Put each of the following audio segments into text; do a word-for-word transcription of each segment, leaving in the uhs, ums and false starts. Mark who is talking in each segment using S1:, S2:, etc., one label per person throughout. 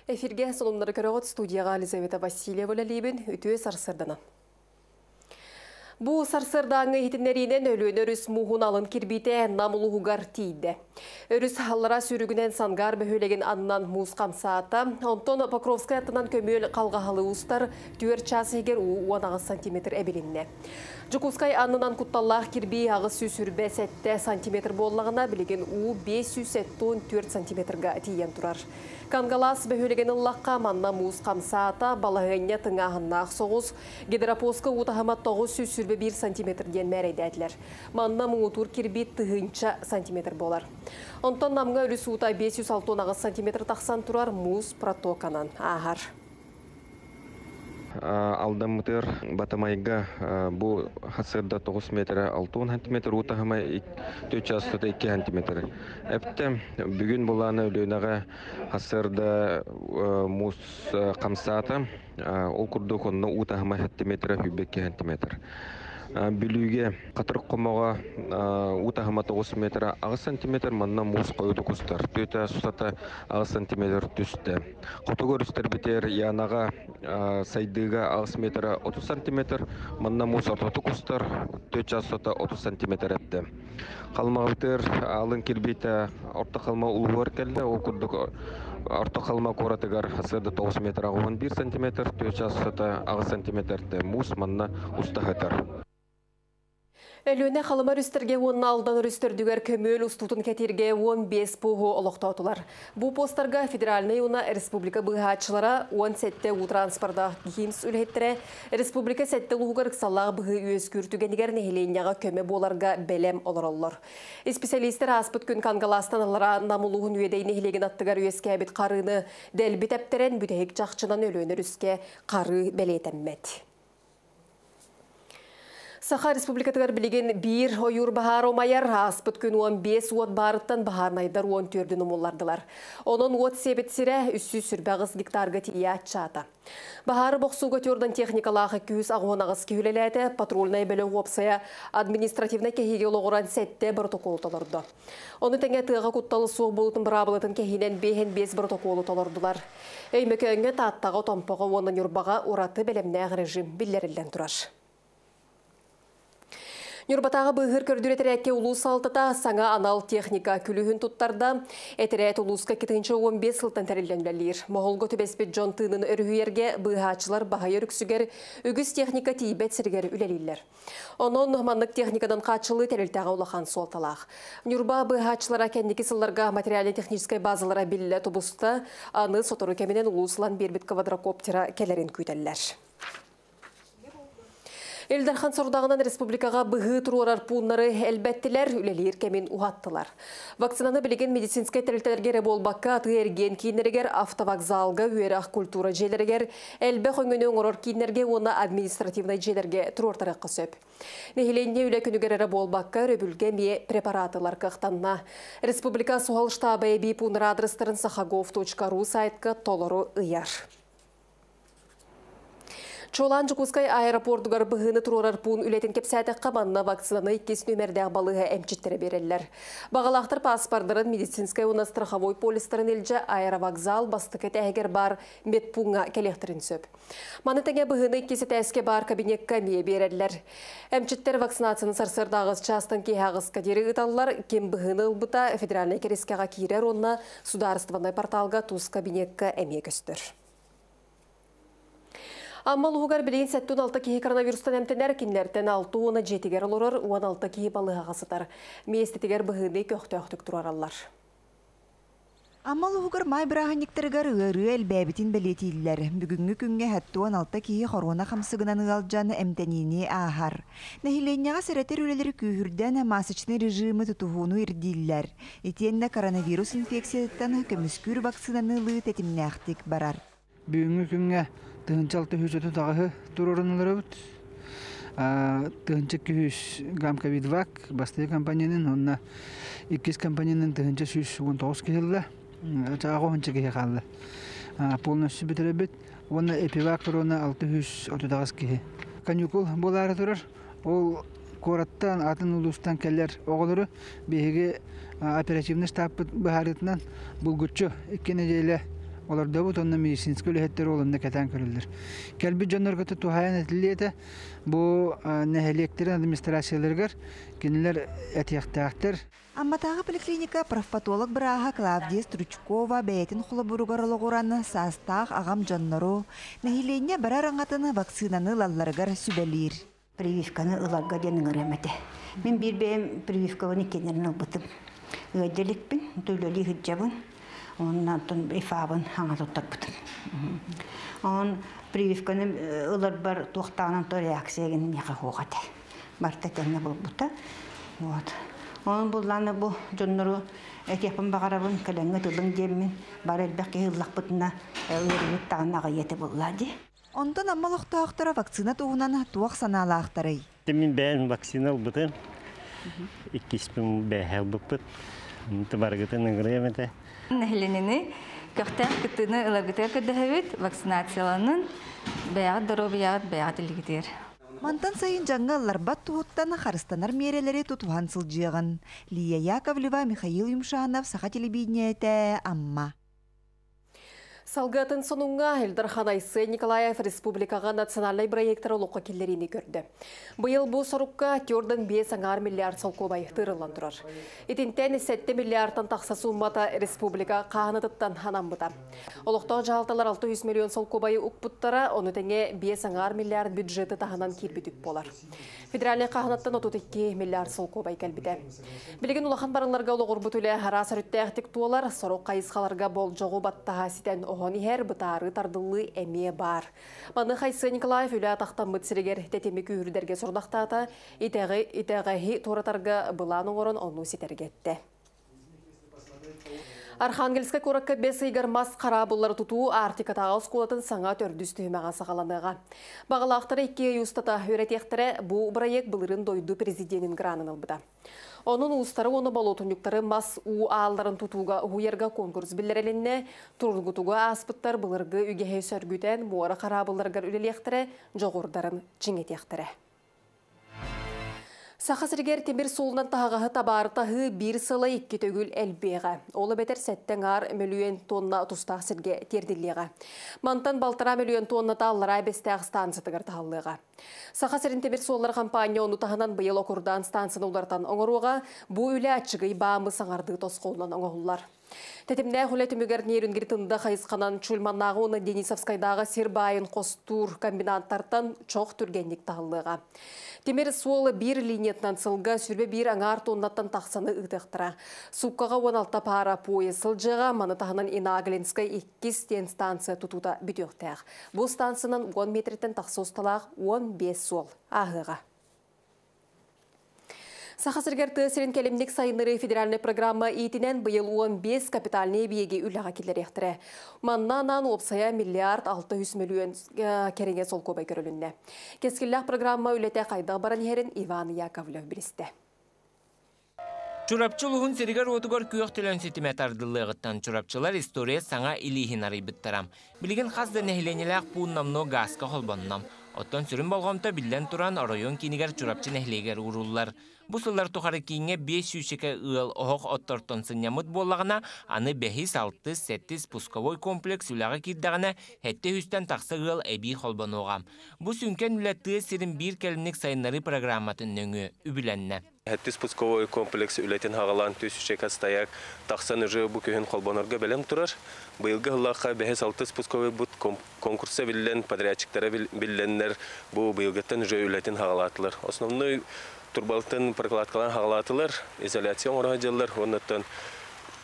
S1: Эфирге сонуннары көрөҕүт, студияға Елизавета Васильева үлэлиибин, үтүө сарсыарданан. Бу сарсыардааҥы иһитиннэриинэн Өлүөнэ өрүс мууһун алын кирбиитэ Нам улууһугар тиийдэ. Өрүс аллара сүүрүгүнэн Сангаар бөһүөлэгин аннынан муус хамсаата. Онтон Покровскай аттынан көмүөл халҕаһалыы устар, түөрт чаас иһигэр уу уон аҕыс сантиметр эбилиннэ. Дьокуускай аннынан кутталлаах кирбии аҕыс сүүс сүүрбэ сэттэ сантиметр буоллаҕына, билигин уу биэс сүүс сэттэ уон түөрт сантиметрга тиийэн турар. Кангалаас бөһүөлэгин ыллахха, манна муус хамсаата, балаһыанньа тыҥааһыннаах соҕус, гидропостка уу таһыма тоҕус сүүс сүүрбэ биир сантиметр диэн мээрэйдээтилэр. Манна муҥутуур кирбии тыһыынча сантиметр буолар. Онтон Намҥа өрүс уута биэс сүүс алта уон аҕыс сантиметр тахсан турар, муус протоканан ааһар.
S2: Алдаммытыр Батамайга бу хасырда тоҕус метр алта уон сантиметр уу таһыма төрт чаастата икки сантиметр. Эптэ бүгүн булааны Өлүөнэҕэ хасырда муус хамсаата, ол курдук онно уу таһыма сэттэ метр сүүрбэ икки сантиметр. Бүлүүгэ Хатырык хомоҕо уу таһыма тоҕус метр аҕыс сантиметр, манна муус хойутук устар. Түөтэ сутата аҕыс сантиметр түстэ. Хотугу өрүстэрбитигэр Янаҕа сайдыыга аҕыс метр отуз сантиметр, манна муус ортотук устар, төрт чаастата отуз сантиметр эпте. Халымаҕытыгар алын кирбиитэ Орто Халыма улууһугар кэллэ, ол курдук Орто Халыма куоратыгар сыада тоҕус метр он биир сантиметр, төрт чаастата аҕыс сантиметр муус манна устаһытар.
S1: Өлүөнэ Халыма өрүстэргэ уонна Алдан өрүстэрдүгэр көмүөл устуутун кэтииргэ уон биэс пуоһу олохтоотулар. Бу постарга федеральнай уонна республика быыһааччылара, уон сэттэ уу транспорда ХИМС үлэһиттэрэ республика сэттэ улууһугар ыксаллаах быһыы үөскүүр түгэнигэр нэһилиэнньэҕэ көмө буоларга бэлэм олороллор. Исписэлиистэр ааспыт күн Кангалаастан аллара Нам улууһун Үөдэй нэһилиэгин аттыгар үөскээбит харыыны дэлби тэптэрэн, бүтэһик чахчынан Өлүөнэ өрүскэ харыы бэлиэтэммэт. Саха Республикатыгар билигин биир ойуур баһаара умайар, ааспыт күн уон биэс уот баарыттан баһаарынайдар уон түөрдүн умуллардылар. Онон уот сиэбит сирэ үс сүүс сүүрбэ аҕыс гектарга тиийэ аччаата. Баһаары бохсууга түөрдэн техникалаах икки жүз аҕыс уон аҕыс киһи үлэлээтэ, патрульнай бөлөх уопсайа административнай кэһиигэ олоҕуран сэттэ протоколу толордо. Ону тэҥэ тыаҕа кутталы суох буолуутун быраабылатын кэһиинэн биэһин биэс протоколу толордулар. Өймөкөөҥҥө, Тааттаҕа, Томпоҕо уонна Ньурбаҕа ураты бэлэмнээх режим биллэриллэн турар. Ньурбатааҕы быыһыыр көрдүүр этэрээккэ улуус салалтата саҥа анал техника күлүүһүн туттарда. Этэрээт улууска икки тыһыынча уон биэс сылтан тэриллэн үлэлиир. Моһолго түбэспит дьон тыынын өрүһүйэргэ быыһааччылар баһыйар үксүгэр үгүс техника тиийбэт сиригэр үлэлииллэр. Онон маннык техникадан хааччылыы тэрилтэҕэ улахан суолталаах. Ньурба быыһааччылара кэнники сылларга материально-техническай базалара биллэ тубуста, аны сотору кэминэн улуус ылан биэрбит квадрокоптера кэлэрин күүтэллэр. Ил Дархан сорудаҕынан республикаҕа быһыы туруорар пууннары элбэттилэр, үлэлиир кэмин уһаттылар. Вакцинаны билигин медицинскэй тэрилтэлэргэ эрэ буолбакка, атыы эргиэн кииннэригэр, автовокзалга, үөрэх культура дьиэлэригэр, элбэх өҥөнү оҥорор кииннэргэ уонна административнай дьиэлэргэ туруортарыахха сөп. Нэһилиэнньэ үлэ күнүгэр эрэ буолбакка, өрөбүлгэ эмиэ препаратылар кыахтанна. Республика суһал штаба эбии пууннар адрестарын сахагов точка ру сайтка толору ыйар. Чуолаан Дьокуускай аэропордугар быһыыны туруорар пуун үлэтин кэпсээтэххэ, манна вакцинаны иккис нүөмэрдээх балыыһа эмчиттэрэ биэрэллэр. Баҕалаахтар паспордарын, медицинскэй уонна страховой полистарын илдьэ аэровокзал бастакы этээһигэр баар медпууҥҥа кэлиэхтэрин сөп. Маны тэҥэ быһыыны иккис этээскэ баар кабинекка эмиэ биэрэллэр. Эмчиттэр вакцинацияны сарсыарда аҕыс чаастан киэһэ аҕыска диэри ыыталлар. Ким быһыыны ылбыта федеральнай кэрискэҕэ киирэр уонна судаарыстыбаннай порталга тус кабинекка эмиэ көстөр. Амма улууһугар билигин сэттэ уон алта киһи коронавирустан эмтэнэр, кинилэртэн алта уона дьиэтигэр олорор, уон алта киһи балыыһаҕа сытар. Миэстэтигэр быһыыны көхтөөхтүк турараллар.
S3: Амма улууһугар маай бырааһынньыктарыгар ыарыы элбээбитин бэлиэтииллэр. Бүгүҥҥү күҥҥэ сэттэ уон алта киһи хоруона хамсыгынан ыалдьан эмтэниини ааһар. Нэһилиэнньэҕэ сэрэтэр үлэлэри күүһүрдэн масочнай режимы тутуһууну ирдииллэр. Итиэннэ коронавирус инфекциятыттан көмүскүүр вакцинаны ылыы тэтимнээхтик барар.
S4: Бүгүҥҥү күҥҥэ тыһыынча алта сүүс отут аҕыһы туруоруннуларыбыт. Тыһыынча икки сүүс гамм ковидвак бастакы компанияның, онно иккис компанияның тыһыынча сүүс уон тоҕус киһи ылла. Аҕыс уонча киһи хаалла. Полностью бүтэрбит. Уонна эпивак корона алта сүүс отут аҕыс киһи. Каникул буолаары турар. Ол куораттан, атын улуустан кэлэр оҕолору биһиги оперативный штабпыт быһаарыытынан булгуччу икки нэдиэлэ Олордобут онно медицинскэй үлэһиттэр олонна кэтэн көрөллөр. Кэлбит дьоннорго туһаайан этиллиэтэ бу нэһилиэктэрин администрацияларыгар кинилэр этиэхтээхтэр.
S3: Амматааҕы поликлиника профпатолог бырааһа Клавдия Стручкова бэйэтин холобуругар олоҕуран саастаах аҕам дьоннору, нэһилиэнньэ барар аҥатын вакцинаны ылалларыгар сүбэлиир.
S5: Прививканы ыларга диэн ыҥырыам этэ. Мин биир бэйэм прививкабын иккиэннэрин ылбытым. Ыадьаликпин, төлөлүү сылдьабын, оннан ИФАбын хаҥа туттарбытым. Он прививканы ыларбар туохтаанан то реакциягын миэхэ суох этэ. Барта тэҥҥэ буолбута. Вот. Онон буллааны бу дьоннору этиэхпин баҕарабын, кэлэҥҥэ тылыҥ диэммин, бары элбэх киһи ыллахпытына ыарыыбыт даҕаны аҕыйыа буллаа дии.
S3: Онтон Амма олохтоохторо вакцина туһунан туох санаалаахтарый?
S6: Мин бэйэм вакцина ылбытым. Иккиспин бэйэ ылбыппыт. Барыгытын ыҥырыам этэ.
S7: Нэһилиэнньэни көхтөөх кыттыыны ыларгытыгар көрдөһөбүт, вакцинацияланын, бэйэҕит доруобуйаҕыт бэйэҕит илигитигэр.
S3: Мантан сайын дьаҥҥа ылларбат туһуттан харыстанар миэрэлэри тутуһан сылдьыаҕын. Лия Яковлева, Михаил Юмшанов, Саха телевидениетэ, Амма.
S1: Салгыатын сонуҥҥа Ил Дархан Айсен Николаев республикаҕа национальнай бырайыактары олоххо киллэриини көрдө. Быйыл бу сорукка түөрт биэс аҥаар миллиард солкуобай тыырыллан турар. Итинтэн сэттэ миллиардтан тахса сууммата республика хаһынатыттан анаммыта. Олохтоох дьаһалталар алта сүүс миллион солкуобайы укпуттара, ону тэҥэ биэс аҥаар миллиард бюджеты таһынан киирбит үп буолар. Федеральнай хаһынаттан отут икки миллиард солкуобай кэлбитэ. Билигин улахан барылларга олоҕурбут үлэ араас өрүттээхтик туолар, сорох хайысхаларга болдьоҕу баттаһа ситэн оһон иһэр бытаары тардыллыы эмиэ баар. Маныаха Айсен Николаев үлэ атахтаммыт сиригэр тэтими күүһүрдэргэ сорудахтаата, итэҕи итэҕэһи туоратарга былаан оҥорон ону ситэргэттэ. Архангельскай куоракка бэс ыйыгар мас хараабыллары тутуу Арктикатааҕы оскуолатын саҥа төрдүс түһүмэҕэ саҕаланыаҕа. Баҕалаахтара икки ый устата үөрэтиэхтэрэ, бу бырайыак былырыын дойду президенин гранын ылбыта. Онон уустары уонна болуотунньуктары мас уу аалларын тутууга уһуйарга конкурс биллэрилиннэ, тургутуга ааспыттар былыргы үгэһи сөргүтэн муора хараабылларыгар үлэлиэхтэрэ, дьоҕурдарын чиҥэтиэхтэрэ. Саха сиригэр тимир суолунан таһаҕаһы табаары биир сыла икки төгүл элбиэҕэ. Ол эбэтэр сэттэ аҥаар мөлүйүөн тонна тустаах сиргэ тиэрдиллиэҕэ. Мантан балтараа мөлүйүөн тонна Аллараа Бэстээх станциятыгар таһаллыаҕа. Саха сирин тимир суоллара компания ону таһынан быйыл Окурдаан станцияны уларытан оҥоруоҕа, бу үлэ аччыгый баамы саҥардыы тосхолунан оҥоһуллар. Тэтимнээх үлэ түмүгэр Нерюнгри Тында хайысханан Чульманнааҕы уонна Денисовскайдааҕы сир баайын хостуур комбинаттартан чох түргэнник таһыллыаҕа. Тимир суол биир линиятынан сылга сүүрбэ биир аҥаар тоннаттан тахсаны ыытыахтара. Сууккаҕа уон алта паара поезд сылдьыаҕа, маны таһынан Инаглинскай иккис диэн станция тутуута бүтүөхтээх. Бу станциянан уон метртэн тахса усталаах уон биэс суол ааһыаҕа. Саха сиригэр тыа сирин кэлимник сайыннарыы федеральнай программа иитинэн быйыл уон биэс капитальнай эбийиэги үлэҕэ киллэриэхтэрэ. Манна анаан уопсайа миллиард алта сүүс мөлүйүөн кэриҥэ солкуобай көрүлүннэ. Кэскиллээх программа үлэтэ хайдах баран иһэрин Иван Яковлев билистэ.
S8: Чурапчы улууһун сиригэр уотугар күөх төлөн ситимэ тардыллыаҕыттан чурапчылар история саҥа илииһин арыйбыттара. Билигин хас да нэһилиэнньэлээх пуун номнуо гааска холбонно. Оттон сүрүн болҕомто биллэн туран оройуон киинигэр Чурапчы нэһилиэгэр ууруллар. Бу сыллар тухары кииҥҥэ биэс сүүсчэкэ ыал оһох оттортон сынньаммыт буоллаҕына, аны бэһис, алтыс, сэттис пусковой комплекс үлэҕэ киирдэҕинэ сэттэ сүүстэн тахса ыал эбии холбонуоҕа. Бу сүҥкэн үлэ тыа сирин биир кэлимник сайыннарыы программатын нөҥүө үбүлэннэ.
S9: Сэттис пусковой комплекс үлэтин хаҕалаан түс стояк тахсан уже бу күһүн холбонорго бэлэм турар. Быйылгы сыллаахха бэһис алтыс пусковой бут конкурса биллэн, подрядчиктара билленнер бу быйылгыттан уже үлэтин хаҕалаатылар. Основной турбалтын прокладкалан хаҕалаатылар, изоляция оҥоро дьыллар, оннуттан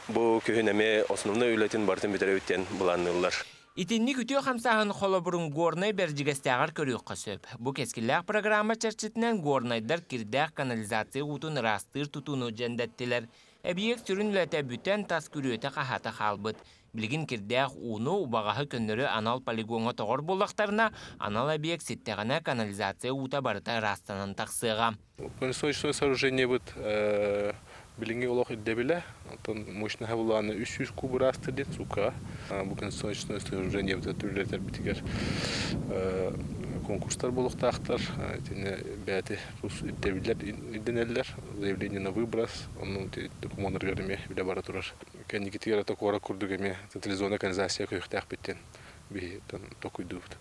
S9: бу күһүн эме основной үлэтин бартын бүтэребиттен былаанныыллар.
S8: Итинник үтүө хамсааһын холобурун Горнай Бэрдьигэстээҕэр көрүөххэ сөп. Бу кэскиллээх программа чэрчитинэн горнайдар кирдээх канализация уутун ыраастыыр тутууну дьэндэттилэр. Эбийиэк сүрүн үлэтэ бүтэн тас күрүөтэ хаһаата хаалбыт. Билигин кирдээх ууну убаҕаһы көннөрү анал полигоҥҥа тоҕор буоллахтарына, анал эбийиэк ситтэҕинэ канализация уута барыта ыраастанан тахсыаҕа.
S10: Канализационное сооружение быт билиҥҥи олох ирдэбилэ, онтон мощноһа булааны үс сүүс куб ыраастыр диэн сууккаҕа. Бу канализационное сооружение быт түрлэтэр битигэр Конкурстар буолуохтаахтар, итиннэ бэйэтэ тус ирдэбиллэр ирдэнэллэр, заявление на выброс, оннун докумуоннарыгар эмиэ үлэ бара турар. Кэнникитигэр ата куорат курдук эмиэ централизованная канализация көрүөхтээхпит диэн биһи толкуйдуубут.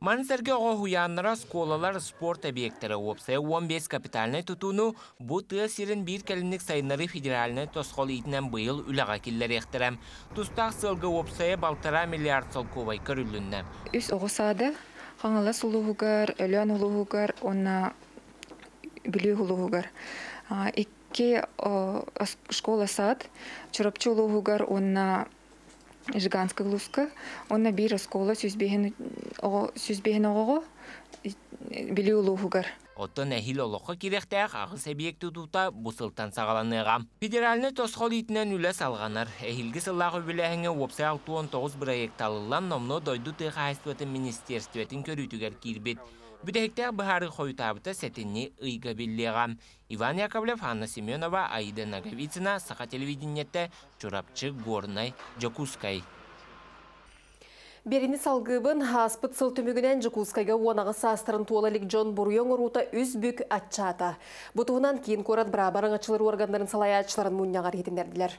S8: Маны сэргэ оҕо уһуйааннара, оскуолалар, спорт объектара, уопсайа уон биэс капитальнай тутууну бу тыа сирин биир кэлимник сайыннарыы федеральнай тосхол иитинэн быйыл үлэҕэ киллэриэхтэрэ. Тустаах сыалга уопсайа балтараа миллиард солкуобай көрүлүннэ.
S7: Үс оҕо саада Хаҥалас улууһугар, Өлөөн улууһугар уонна Бүлүү улууһугар. Икки школа-сад Чурапчы улууһугар уонна Жиганскай улууска, уонна биир оскуола сүүс биэһин оҕоҕо Бүлүү улууһугар.
S8: Оттон эһиил олоххо киириэхтээх аҕыс эбийиэк тутуута бу сылтан саҕаланыаҕа. Федеральнай тосхол иитинэн үлэ салҕанар. Эһиилги сыллаах үбүлээһиҥҥэ уопсай алта уон тоҕус бырайыак талыллан, номнуо дойду тыа хаһаайыстыбатын министиэристибэтин көрүүтүгэр киирбит. Бүтэһиктээх быһаарыы хойутаабыта сэтинньи ыйга биллиэҕэ. Иван Яковлев, Анна Семенова, Аида Ноговицына, Саха телевидениетэ, Чурапчы, Горнай, Дьокуускай.
S1: Биэриини салгыыбын. Ааспыт сыл түмүгүнэн Дьокуускайга уон аҕыс саастарын туола илик дьон буруйу оҥоруута үс бүк аччаата. Бу туһунан киин куорат бырааба араҥаччылыыр уорганнарын салайааччыларын мунньаҕар иһитиннэрдилэр.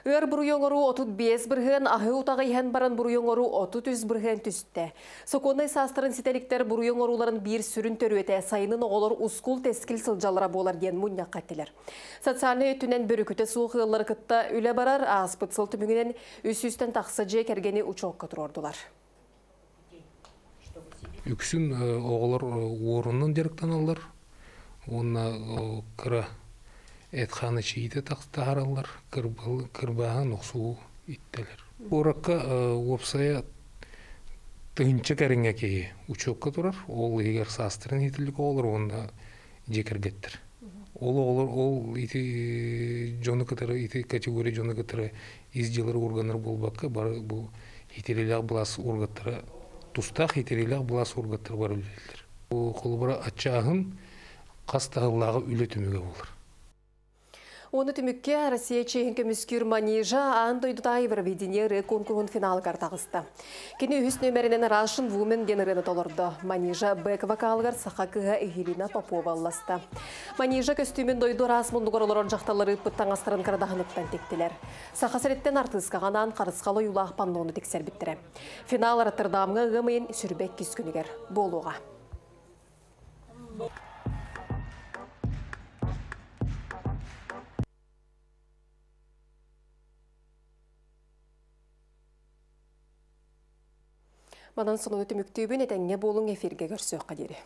S1: Ыар буруйу оҥоруу отут биэс бырыһыан, аһыы утаҕы иһэн баран буруйу оҥоруу отут үс бырыһыан түстэ. Сокуоннай саастарын ситэ иликтэр буруйу оҥорууларын биир сүрүн төрүөтэ сайынын оҕолор ускул-тэскил сылдьаллара буолар диэн мунньахха эттилэр. Социальнай өттүнэн бөрүкүтэ суох ыаллары кытта үлэ барар. Ааспыт сыл түмүгүнэн үс сүүстэн тахса дьиэ кэргэни учуокка туруордулар.
S11: Үксүн оҕолор уорунан дьарыктаналлар уонна кыра эт-хаан эчийиитэ таһаараллар, кырбааһын охсуу иттэлэр. Куоракка уопсайа тыһыынча кэриҥэ киһи учуокка турар, ол иһигэр саастарын иитиллик оҕолор уонна дьиэ кэргэттэр. Ол оҕолор ол ити дьону кытары, ити категория дьону кытары ис дьыалар органнар буолбакка, бары бу итирилээх былаас органнара, тустаах итирилээх былаас органнара бар үлэлииллэр. Холобура аччааһын хас таһыллааҕы үлэ түмүгэ буолар.
S1: Оны түмүккэ Россия чиэһин көмүскүүр Манижа аан дойдутааҕы Евровидение ырыа куонкуруһун финалыгар таҕыста. Кини үһүс нүөмэринэн Russian Woman диэн ырыаны толордо. Манижа бэк вокалыгар саха кыыһа Елена Попова ылласта. Манижа көстүүмүн дойду араас муннугар олорор дьахталлары ыыппыт таҥастарын кырадаһыныттан тиктилэр. Саха сириттэн артыыскаҕа анаан харысхал ойуулаах паннону тиксэрбиттэрэ. Финал Роттердамҥа ыам ыйын сүүрбэ иккис күнүгэр буолуоҕа. Манан сонуну түмүктүүбүн, этэҥҥэ буолуҥ, эфиргэ көрсүөххэ диэри.